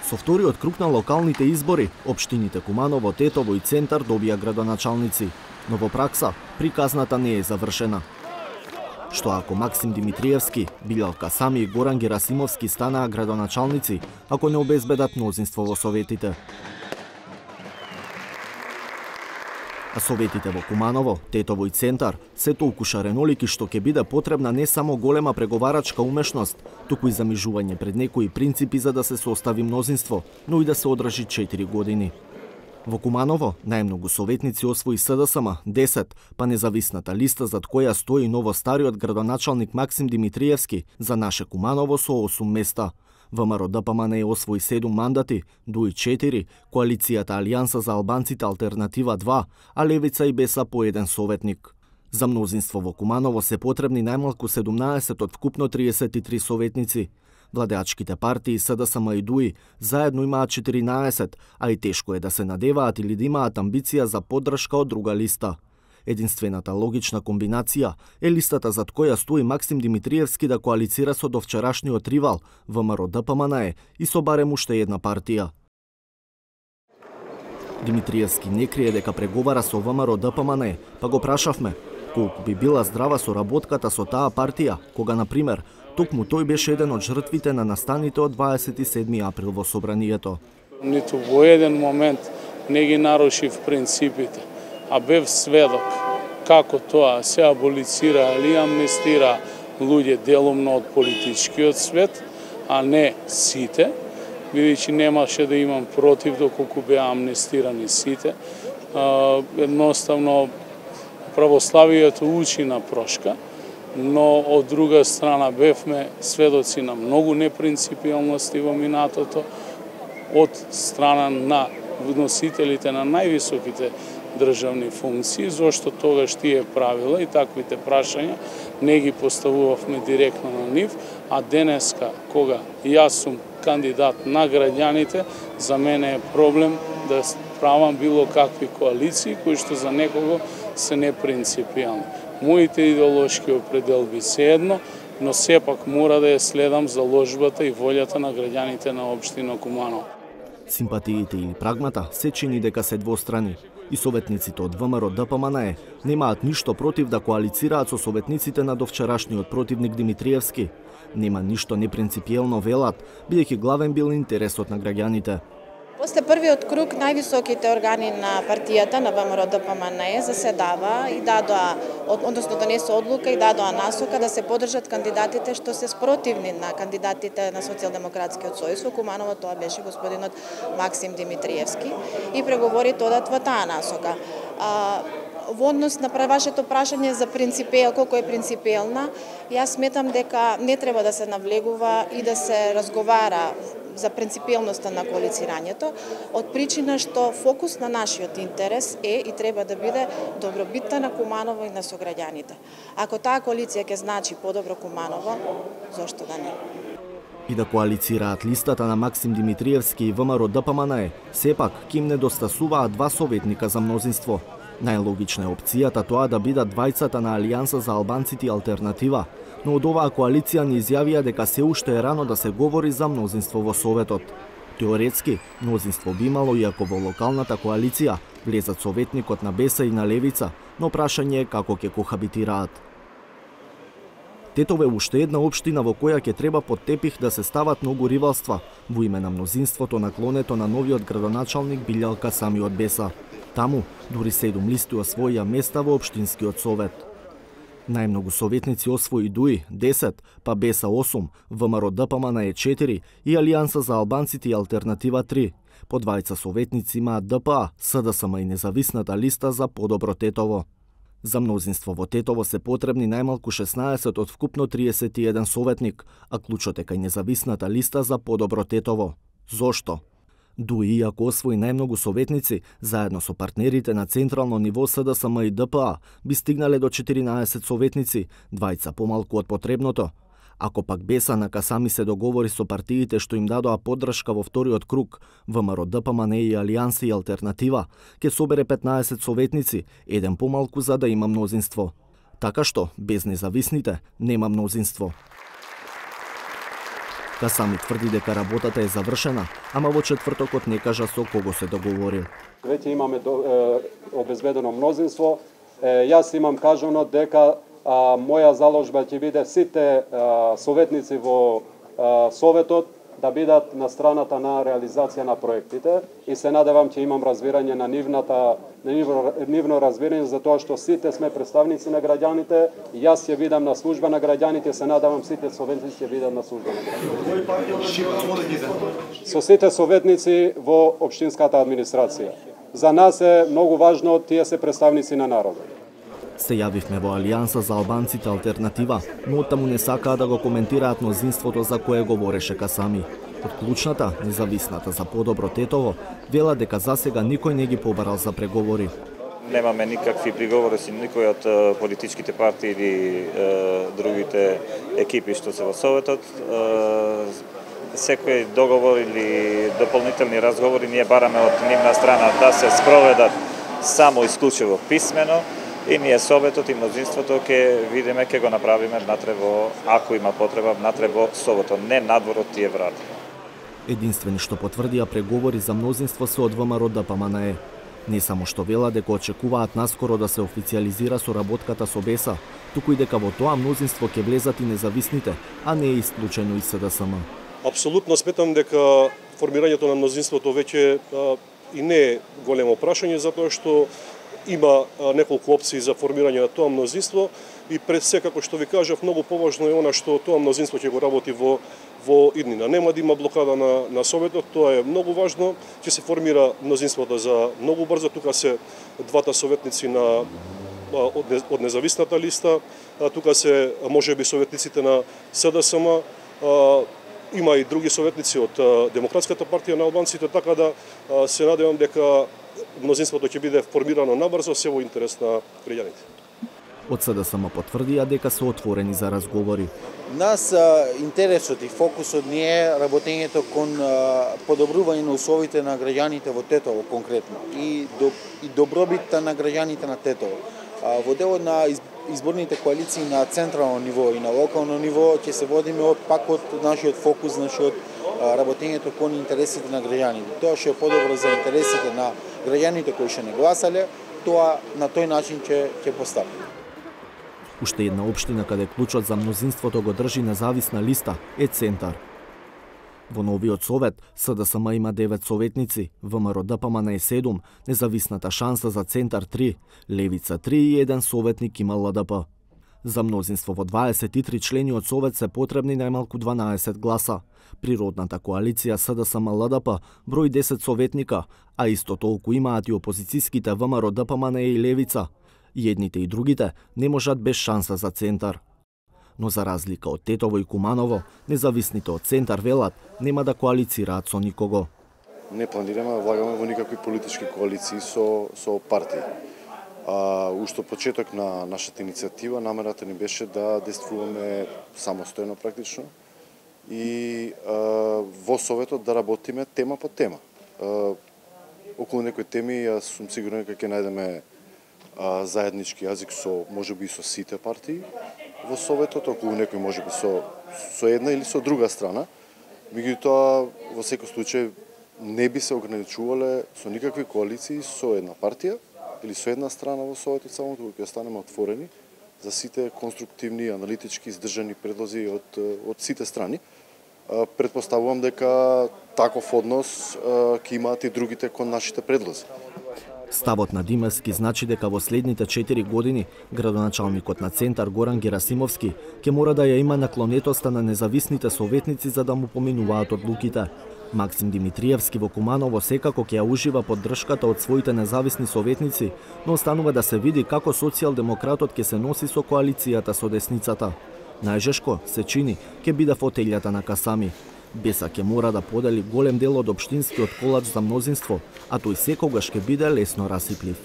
Со вториот круг на локалните избори, општините Куманово, Тетово и Центар добија градоначалници, но во пракса приказната не е завршена. Што ако Максим Димитриевски, Билјалка Сами и Горан Герасимовски станаа градоначалници, ако не обезбедат мнозинство во советите? А советите во Куманово, Тетово и Центар се толку шаренолики што ќе биде потребна не само голема преговарачка умешност, туку и замижување пред некои принципи за да се состави мнозинство, но и да се одржи 4 години. Во Куманово најмногу советници освои СДСМ 10, па независната листа зад која стои новостариот градоначалник Максим Димитриевски за наше Куманово со 8 места. ВМРО-ДПМН освои 7 мандати, ДУИ 4, коалицијата Алијанса за албанците Алтернатива 2, а Левица и Беса по 1 советник. За мнозинство во Куманово се потребни најмалку 17 од вкупно 33 советници. Владеачките партии СДСМ и ДУИ заедно имаат 14, а и тешко е да се надеваат или да имаат амбиција за поддршка од друга листа. Единствената логична комбинација е листата зад која стои Максим Димитриевски да коалицира со довчерашниот ривал ВМРО-ДПМН и со барем уште една партија. Димитриевски не крие дека преговара со ВМРО-ДПМН, па го прашавме колку би била здрава соработката со таа партија, кога, например, токму тој беше еден од жртвите на настаните од 27 април во собранието. Ниту во еден момент не ги нарушив принципите, а бев сведок како тоа се аболицира или амнестира луѓе делумно од политичкиот свет, а не сите, бидејќи немаше да имам против доколку беа амнестирани сите. Едноставно православието учи на прошка, но од друга страна бевме сведоци на многу непринципиалности во минатото од страна на носителите на највисоките државни функции, зашто тогаш тие правила и таквите прашања не ги поставувавме директно на нив, а денеска, кога јас сум кандидат на граѓаните, за мене е проблем да правам било какви коалиции кои што за некого се непринципиални. Моите идеолошки определби се едно, но сепак мора да ја следам заложбата и волјата на граѓаните на општина Куманово. Симпатиите или прагмата се чини дека се двострани. И советниците од ВМРО-ДПМН немаат ништо против да коалицираат со советниците на довчерашниот противник Димитриевски. Нема ништо непринципиелно велат, бидејќи главен бил интересот на граѓаните. После првиот круг највисоките органи на партијата на ВМРО-ДПМН заседава и дадоа, односно донесе одлука и дадоа насока да се поддржат кандидатите што се спротивни на кандидатите на Социјалдемократскиот сојуз. Во Куманово тоа беше господинот Максим Димитриевски и преговорите одат во таа насока. Во однос на вашето прашање за колку е принципиелна, јас сметам дека не треба да се навлегува и да се разговара за принципиелноста на коалицирањето, од причина што фокус на нашиот интерес е и треба да биде добробитта на Куманово и на сограѓаните. Ако таа коалиција ќе значи подобро Куманово, зошто да не? И да коалицираат листата на Максим Димитриевски и ВМРО-ДПМН, сепак ќе им недостасуваат 2 советника за мнозинство. Најлогична е опцијата тоа да бидат двајцата на Алијанса за албанците и Алтернатива, но од оваа коалиција ни изјавија дека се уште е рано да се говори за мнозинство во Советот. Теоретски, мнозинство би имало и ако во локалната коалиција влезат советникот на Беса и на Левица, но прашање е како ќе кохабитираат. Тетово е уште една општина во која ќе треба под тепих да се стават многу ривалства во име на мнозинството наклонето на новиот градоначалник Билјалка Сами од Беса. Таму, дури 7 листи освоија места во општинскиот совет. Најмногу советници освои ДУИ 10, па Беса 8, ВМРО-ДПМН 4 и Алијанса за албанците и Алтернатива 3. По двајца советници имаат ДПА, СДСМ и независната листа за подобро Тетово. За мнозинство во Тетово се потребни најмалку 16 од вкупно 31 советник, а клучот е кај независната листа за подобро Тетово. Зошто? ДУИ, иако освои најмногу советници, заедно со партнерите на централно ниво СДСМ и ДПА, би стигнале до 14 советници, двајца помалку од потребното. Ако пак Беса на Касами се договори со партиите што им дадоа поддршка во вториот круг, ВМРО-ДПМН и Алијанса и Алтернатива, ќе собере 15 советници, еден помалку за да има мнозинство. Така што, без независните, нема мнозинство. Касами тврди дека работата е завршена, ама во четвртокот не кажа со кого се договорил. Веќе имаме обезбедено мнозинство. Јас имам кажано дека моја заложба ќе биде сите советници во Советот да бидат на страната на реализација на проектите и се надевам ќе имам разбирање на нивно разбирање за тоа што сите сме представници на граѓаните, јас ќе бидам на служба на граѓаните, се надевам сите советници ќе бидат на служба на граѓаните. Со сите советници во општинската администрација. За нас е многу важно тие се представници на народот. Се јавивме во Алијанса за албанците алтернатива, но оттаму не сакаа да го коментираат мнозинството за кое говореше Касами. Од клучната, независната за подобро Тетово, вела дека засега никој не ги побарал за преговори. Немаме никакви приговори со никој од политичките партии или другите екипи што се во Советот. Секој договор или дополнителни разговори ние бараме од нивна страна да се спроведат само исклучиво писмено. И ние Советот и мнозинството ќе видиме, ќе го направиме внатре во, ако има потреба, внатре во Советот, не надвор од тие врати. Единствени што потврдија преговори за мнозинство се од ВМРО ДПМНЕ. Не само што вела дека очекуваат наскоро да се официализира соработката со БЕСА, туку и дека во тоа мнозинство ќе влезат и независните, а не и исклучено и СДСМ. Апсолутно сметам дека формирањето на мнозинството веќе и не е големо прашање, затоа што има неколку опции за формирање на тоа мнозинство и пред се, како што ви кажав, многу поважно е она што тоа мнозинство ќе го работи во иднина. Нема да има блокада на Советот, тоа е многу важно, ќе се формира мнозинството за многу брзо, тука се двата советници од независната листа, тука се можеби советниците на СДСМ, има и други советници од Демократската партија на албанците, така да се надевам дека мнозинството ќе биде формирано набрзо, се во интерес на граѓаните. Од СДСМ потврдија дека се отворени за разговори. Нас интересот и фокусот ни е работењето кон подобрување на условите на граѓаните во Тетово конкретно и добробитта на граѓаните на Тетово. Во делот на изборните коалиции на централно ниво и на локално ниво ќе се водиме пак од нашиот фокус, од работењето кон интересите на граѓаните. Тоа што е подобро за интересите на граѓаните кои што не гласале, тоа на тој начин ќе поставиме. Уште една општина каде клучот за мнозинството го држи независна листа е Центар. Во новиот совет СДСМ има 9 советници, ВМРО ДПМНЕ 7, независната шанса за Центар 3, Левица 3 и 1 советник има ЛДП. За мнозинство во 23 члени од совет се потребни најмалку 12 гласа. Природната коалиција СДСМ ЛДП брои 10 советника, а исто толку имаат и опозицијските ВМРО ДПМНЕ и Левица. И едните и другите не можат без шанса за Центар. Но за разлика од Тетово и Куманово, независните од Центар велат нема да коалицираат со никого. Не планираме да влагаме во никакви политички коалиции со партии. Уште почеток на нашата иницијатива намерата ни беше да действуваме самостојно практично и во Советот да работиме тема по тема. Околу некои теми јас сум сигурен дека ќе најдеме заеднички јазик со можеби и со сите партии во Советот, околу некој можеби со една или со друга страна. Меѓутоа, во секој случај не би се ограничувале со никакви коалиции со една партија или со една страна во Советот, само туку ќе останеме отворени за сите конструктивни, аналитички, издржани предлози од сите страни. Предпоставувам дека таков однос ќе имаат и другите кон нашите предлози. Ставот на Димевски значи дека во следните 4 години градоначалникот на Центар Горан Герасимовски ќе мора да ја има наклонетоста на независните советници за да му поминуваат одлуките. Максим Димитриевски во Куманово секако ќе ја ужива поддршката од своите независни советници, но останува да се види како социјалдемократот ќе се носи со коалицијата со десницата. Најжешко се чини ќе биде фотелјата на Касами. БЕСА ќе мора да подели голем дел од општинскиот колач за мнозинство, а тој секогаш ќе биде лесно расиплив.